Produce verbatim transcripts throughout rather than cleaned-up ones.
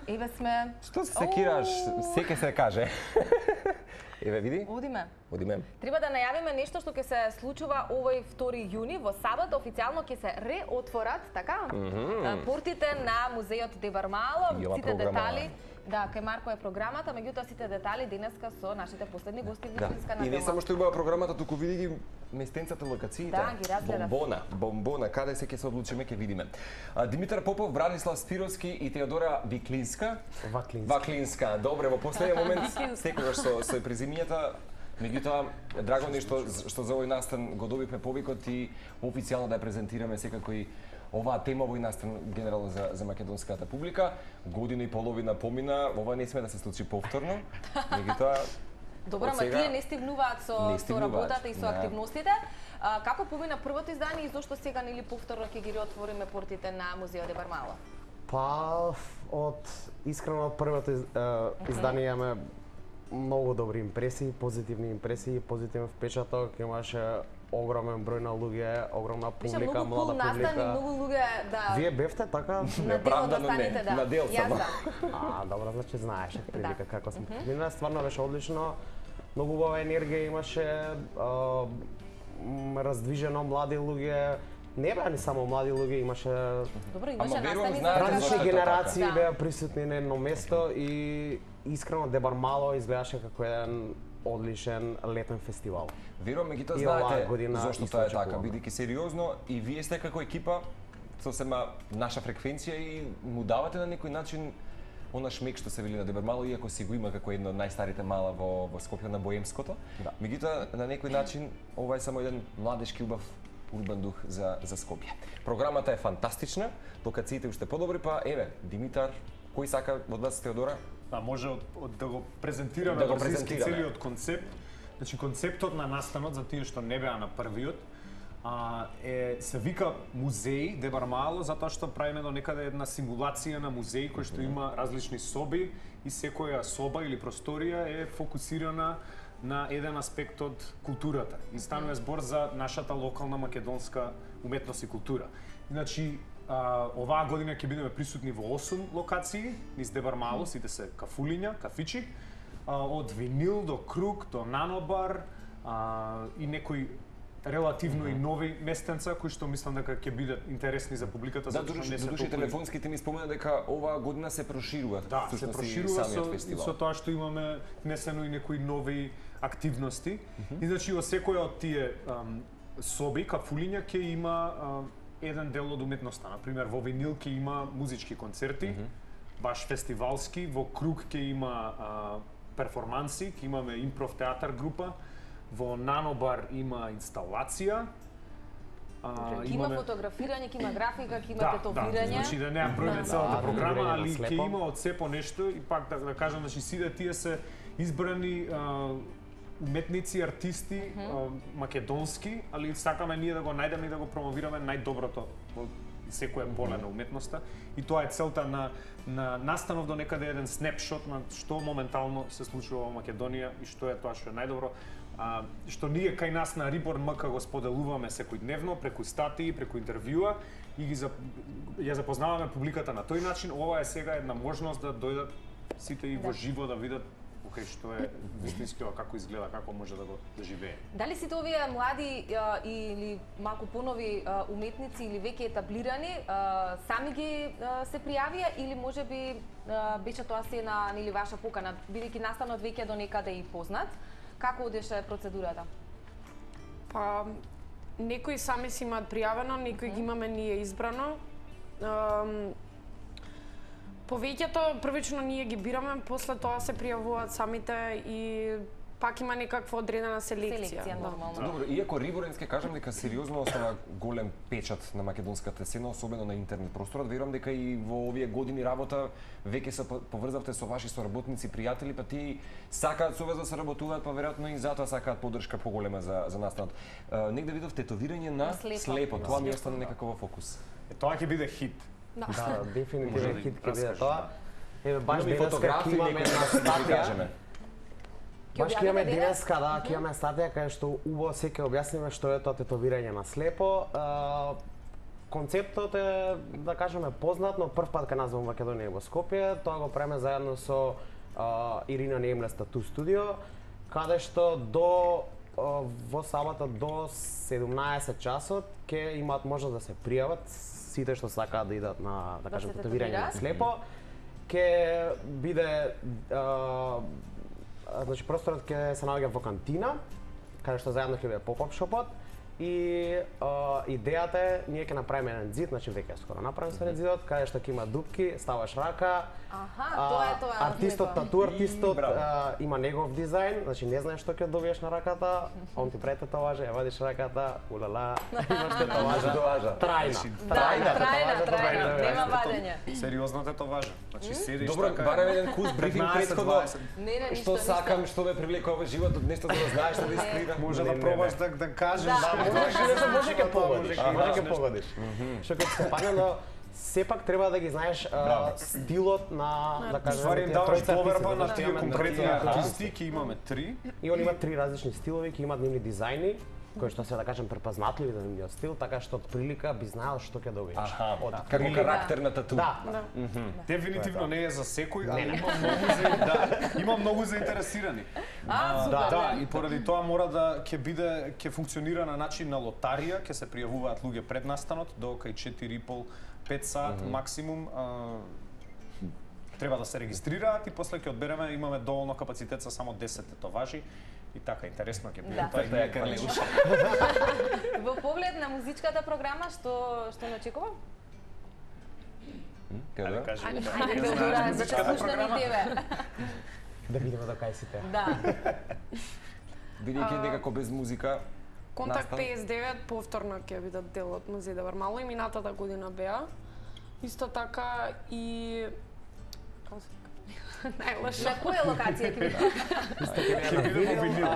Еве сме. Што се секираш? Секе се каже. Еве види? Одиме. Одиме. Треба да најавиме нешто што ќе се случува овој втори јуни во сабота официјално ќе се реотворат, така? Mm -hmm. Портите на музејот Де Вармало, Јова сите програма. детали. Да, кај Марко е програмата, меѓутоа сите детали денеска со нашите последни гости Да. Виклинска на И не само што убава програмата, туку види ги местенцата, локациите. Да, ги разгледав. Бомбона, бомбона, каде се ќе се одлучиме, ќе видиме. А, Димитар Попов, Бранислав Спировски и Теодора Виклинска. Ваклинска. Ваклинска. Добре, во последниот момент секогаш со со презимињата. Меѓутоа, драго ми е што што за овој настан го добивме повикот и официјално да ја презентираме секако и оваа тема овој настан генерално за за македонската публика. Година и половина помина, ова не сме да се случи повторно. Меѓутоа Добро, ама тие не стигнуваат со, не со работата и со да. активностите. А, како помина првото издание и зошто сега нели повторно ќе ги реотвориме портите на музејот Де Вармало? Па, од искрено од првото из, uh, издание имаме многу добри импресии, позитивни импресии, позитивен впечаток, имаше огромен број на луѓе, огромна публика, Беше многу млада cool публика. настан и многу луѓе, да. Вие бевте така? На дел од Неправдано не, настаните, да. на дел Јас само. да. А, добро, значи знаеш прилика Да. како сме. Мина стварно беше одлично. Многу убава енергија имаше, а, м, раздвижено млади луѓе. Не беа ни само млади луѓе, имаше Добро, имаше Ама верувам, настани знаете за зашто различни е тоа генерации така? беа присутни на едно место и искрено Де Вармало изгледаше како еден одличен летен фестивал. Верувам, меѓутоа И оваа знаете година зошто исто тоа е така, очекуваме. бидејќи сериозно и вие сте како екипа сосема наша фреквенција и му давате на некој начин она шмек што се вели на Де Вармало, иако си го има како едно од најстарите мала во во Скопје на Боемското. Да. Меѓутоа на некој начин ова е само еден младешки убав урбан дух за за Скопје. Програмата е фантастична, локациите уште подобри, па еве Димитар, кој сака од вас Теодора? Да, може од, од да го презентираме Да го брзински презентираме. целиот концепт. Значи концептот на настанот за тие што не беа на првиот а, е се вика музеј Де Вармало затоа што правиме до некаде една симулација на музеј кој што има различни соби и секоја соба или просторија е фокусирана на еден аспект од културата. И станува збор за нашата локална македонска уметност и култура. Значи, а, оваа година ќе бидеме присутни во осум локации низ Де Вармало, сите се кафулиња, кафичи, а, од винил до круг, до нанобар а, и некои релативно и нови местенца кои што мислам дека ќе бидат интересни за публиката, Да, затоа што додуше не се додуше толку- телефонските ми спомена дека оваа година се проширува. Да, се всушност, и проширува самиот со, фестивал. со тоа што имаме внесено и некои нови активности. И значи во секоја од тие ам, соби, кафулиња ќе има ам, еден дел од уметноста. Например, во винил ќе има музички концерти, баш фестивалски, во круг ќе има а, перформанси, ќе имаме импров театар група, во нанобар има инсталација. А, Ќе има фотографирање, ќе има графика, ќе има да, тетовирање. Да, значи да не ја бројме целата Да, програма, тетовирање али на ќе слепо. има од сепо нешто и пак да, да кажам, значи сите тие се избрани а, уметници, артисти, а, македонски, али сакаме ние да го најдеме и да го промовираме најдоброто во секоја поле на уметноста. И тоа е целта на на настанов до некаде еден снапшот на што моментално се случува во Македонија и што е тоа што е најдобро. А, што ние кај нас на Reborn МК го споделуваме секојдневно преку статии, преку интервјуа и ги зап... ја запознаваме публиката на тој начин. Ова е сега една можност да дојдат сите и во Да. живо да видат окей што е вистински ова, како изгледа, како може да го да живее. Дали сите овие млади а, или малку понови а, уметници или веќе етаблирани а, сами ги а, се пријавија или можеби а, беше тоа се на нели ваша покана, бидејќи настанот веќе до некаде и познат? Како одеше процедурата? Па, некои сами си имаат пријавено, некои ги имаме ние избрано. Ам, Повеќето првично ние ги бираме, после тоа се пријавуваат самите и пак има некаква одредена селекција. Селекција, да. нормално. Добро, иако Риборен ке кажам дека сериозно остава голем печат на македонската сцена, особено на интернет просторот, верувам дека и во овие години работа веќе се поврзавте со ваши соработници, пријатели, па тие сакаат со вас да се работуваат, па веројатно и затоа сакаат поддршка поголема за за настанот. Uh, негде видов тетовирање на, На слепо. слепо, На тоа ми слепо, остана да. некако во фокус. Е, тоа ќе биде хит. Да. Да, Може да дефинитивно ги хит ќе биде раскажеш, тоа. Еве баш Имаме и денеска фотографии, ќе имаме некои една да ги статија. кажеме. Баш ќе објавите имаме денес? денеска, да, ќе имаме статија кај што убаво се ќе објасниме што е тоа тетовирање на слепо. А, концептот е, да кажеме, познат, но прв пат кај нас во Македонија и во Скопје, тоа го правиме заедно со а, Ирина Наемлес Тату студио, каде што до а, во сабота до седумнаесет часот ќе имаат можност да се пријават сите што сакаат да идат на, да, Да кажем, се татуирање татуираат? слепо. Ќе биде а, значи просторот ќе се наоѓа во кантина, каде што заедно ќе биде поп-ап шопот. И а, идејата е, ние ќе направиме еден зид, значи веќе е скоро направен со зидот, каде што ќе има дупки, ставаш рака. Аха, а, тоа е тоа. Артистот, него. тату артистот И, браво. а, има негов дизајн, значи не знаеш што ќе добиеш на раката, он ти прави татуажа, ја вадиш раката, улала, имаш татуажа. Татуажа. Трајна. Да, трајна, татуажа, трајна, добре, нема добре. вадење. Сериозно татуажа. Значи седиш Добро, така. барем еден кус брифинг петнаесет, претходно. дваесет. Не, не, ништо, Што ништо. сакам, што ме привлекува во животот, нешто за да знаеш, да искрира. Може Не, да не, пробаш не. да да кажеш. Да. Да, можеш, не знам, може ќе погодиш, Може ќе може кажеш ќе нешто. погодиш. Што ќе се падне, но сепак треба да ги знаеш а, стилот на, да кажем, Ствари им тие даваш тројца доверба артисти, на да тие имаме конкретни тие артисти, ќе имаме три. И они имаат три различни стилови, ќе имаат нивни дизајни, кои што се, да кажем, препознатливи за нивниот стил, така што од прилика би знаел што ќе добиеш. Аха, Од како прилика- карактер на тату. Да, Дефинитивно не е за секој, али Не, не. има многу за да, има многу заинтересирани. А, супер. Да, да, и поради тоа мора да ќе биде ќе функционира на начин на лотарија, ќе се пријавуваат луѓе пред настанот до кај четири и пол пет саат mm -hmm. максимум. А, треба да се регистрираат и после ќе одбереме, имаме доволно капацитет за само десет тетоважи и така интересно ќе биде Да. тоа и Тоа е ние Карле. Во поглед на музичката програма, што што не очекува? Каде? Ајде кажи. Ајде, Ајде, култура, знаеш за да музичката слушнем и програма? тебе. да видиме до кај сите. Да. Бидејќи некако без музика. Контакт настан- петдесет и девет повторно ќе бидат дел од Музеј Девар Мало и минатата година беа. Исто така и како се вика? Најлоша. На која локација ќе биде? Ќе биде во винил.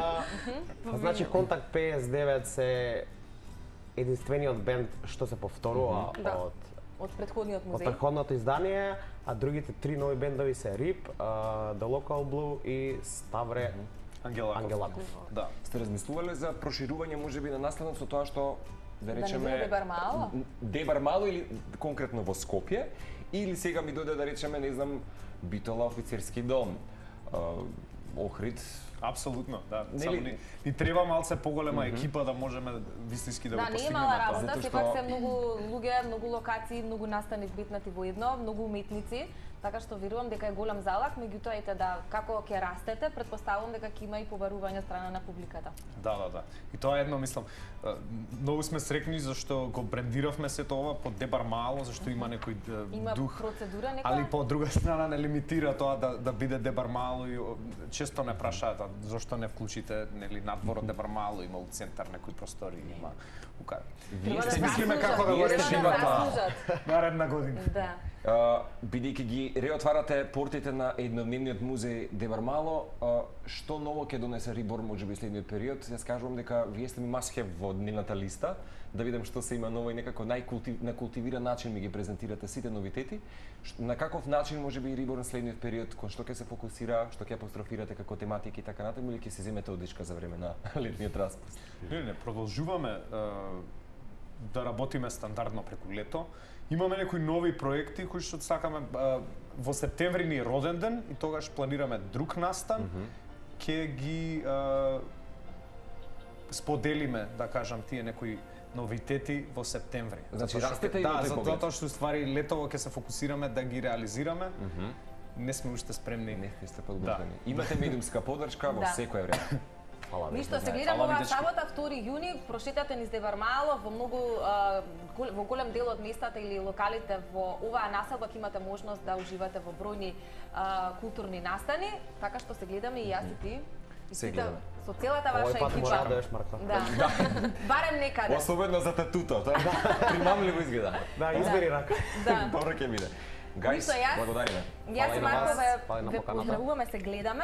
Значи Контакт петдесет и девет се единствениот бенд што се повторува Да. од Од предходниот од музеј. претходното издание, а другите три нови бендови се Рип, uh, The Local Blue и Ставре Ангелаков. Ангелаков. Да. Сте размислувале за проширување можеби на настанот со тоа што да не речеме биде Дебар Мало? Дебар Мало или конкретно во Скопје или сега ми дојде да речеме не знам Битола офицерски дом, а, Охрид. Апсолутно, да. Нели- Само ни, ни треба малце поголема екипа да можеме вистински да, Да, го не е постигнеме мала тоа. работа, Затоа сепак што- се многу луѓе, многу локации, многу настани вбитнати во едно, многу уметници, така што верувам дека е голем залак, меѓутоа ете да како ќе растете, претпоставувам дека ќе има и побарување од страна на публиката. Да, да, да. И тоа е едно, мислам, е, многу сме срекни зашто го брендиравме сето ова под Дебар Мало, зашто има некој е, Има дух. процедура нека? Али по друга страна не лимитира тоа да да биде Дебар Мало и о, често не прашаат а зошто не вклучите нели надвор од Дебар Мало, има у центар некои простори, има ука. Треба да Ще мислиме заслужат, како да го треба решиме да тоа. заслужат. Наредна година. Да. А, бидејќи ги реотварате портите на еднодневниот музеј Дебар Мало, а, што ново ќе донесе Рибор можеби следниот период? Јас кажувам дека вие сте ми масхев во дневната листа, да видам што се има ново и некако најкултив, на култивиран начин ми ги презентирате сите новитети. Ш- На каков начин можеби Рибор на следниот период, кон што ќе се фокусира, што ќе апострофирате како тематики и така натаму, или ќе се земете одишка за време на летниот распуст? Не, не, продолжуваме е, да работиме стандардно преку лето. Имаме некои нови проекти кои што сакаме е, во септември ни е роден ден и тогаш планираме друг настан. Ќе ги е, споделиме, да кажам, тие некои новитети во септември. Значи, Затоа што- растете и да, во тој поглед. затоа што ствари летово ќе се фокусираме да ги реализираме. Не сме уште спремни. Не, не сте подготвени. Имате медиумска поддршка во Да. секое време. Фала ви. Ништо, се Да, гледам фала ви, оваа дечки. сабота, втори јуни, прошетате низ Дебар Мало, во многу а, гол- во голем дел од местата или локалите во оваа населба ќе имате можност да уживате во бројни а, културни настани, така што се гледаме и јас и ти. И Се сите- гледаме. Со целата Овој ваша пат му екипа. радуеш, Марко. Да. Барем некаде. Особено за татуто, тоа примамливо изгледа. Да, избери рака. Да. Добро ќе биде. Гајс, Ништо, јас- благодариме. Јас Фала и и на Марко вас, ве, фала и на ве поканата. поздравуваме, се гледаме.